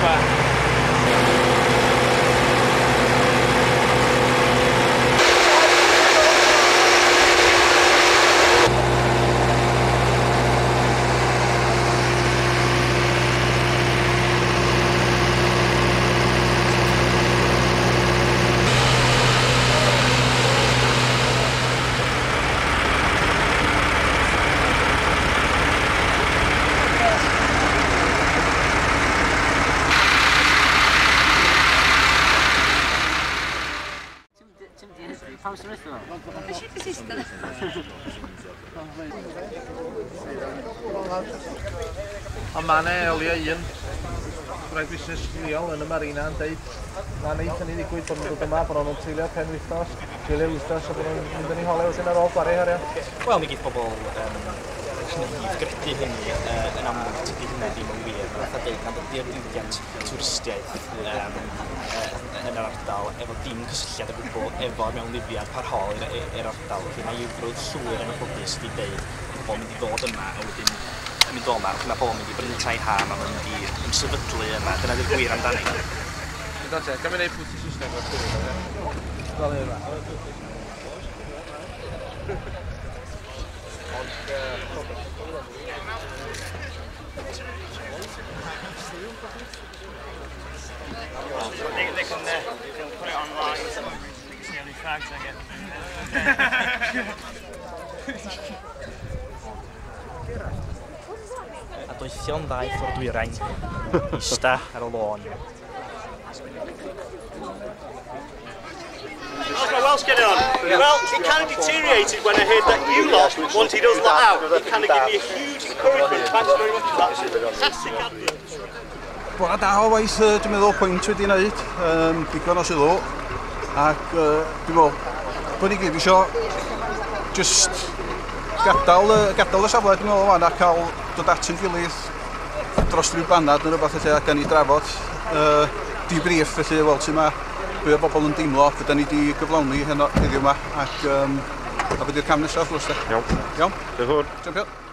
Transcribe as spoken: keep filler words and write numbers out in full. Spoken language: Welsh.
yma. Ond mae yna elia un gwraig busnes leol yn y marina yn deud na neith hynny ddigwydd bod nhw'n dod yma, bod nhw'n treulio penwythnos, treulio wythnos a bod nhw'n mynd yn eu hole wedyn ar ôl gwario harian. Wel, mi geith pobl um, naïf gredu hynny uh, yn amlwg tydi hynny ddim yn wir. Mae'n fatha deud nad ydy'r diwydiant twristiaeth um, uh, yn yr ardal efo dim cysylltiad o gwbl efo'r mewnlifiad parhaol i'r ardal. Felly mae eugrwydd llwyr yn anffodus wedi deud bod pobl yn mynd i ddod yma a wedyn yn mynd o yma, mae pobl yn mynd i brynu tai ha, mae nhw'n mynd i ymsefydlu yma. Dyna di'r gwir amdani. Gan mi wneud pwynt i Saesneg o'r llwyr. Fel yma. They, they can, uh, they'll put it online. They can see how many fags I get. A doethion ddaeth o'r dwyrain, ista ar y lôn. How's my Welsh getting on? Well, it kind of deteriorated when I heard that you lot wanted us lot out. It kind of gave me a huge encouragement. Thanks very much for that. Fantastic advert. Bore da o waith, dwi'n meddwl, pwynt wedi wneud, um, digon o sylw, ac uh, dwi'n meddwl bod ni gyd isio just gadael, gadael y safle, dwi'n meddwl, wan, a cael dod at ein gilydd dros rhyw banad neu rhywbeth felly, a gan ni drafod uh, debrief felly, weld sut mae be o bobl yn deimlo, be da ni wedi gyflawni heno heddiw yma, ac um, a be di'r cam nesaf wrth gwrs. Iawn. Iawn? Diolch yn fawr. Champion.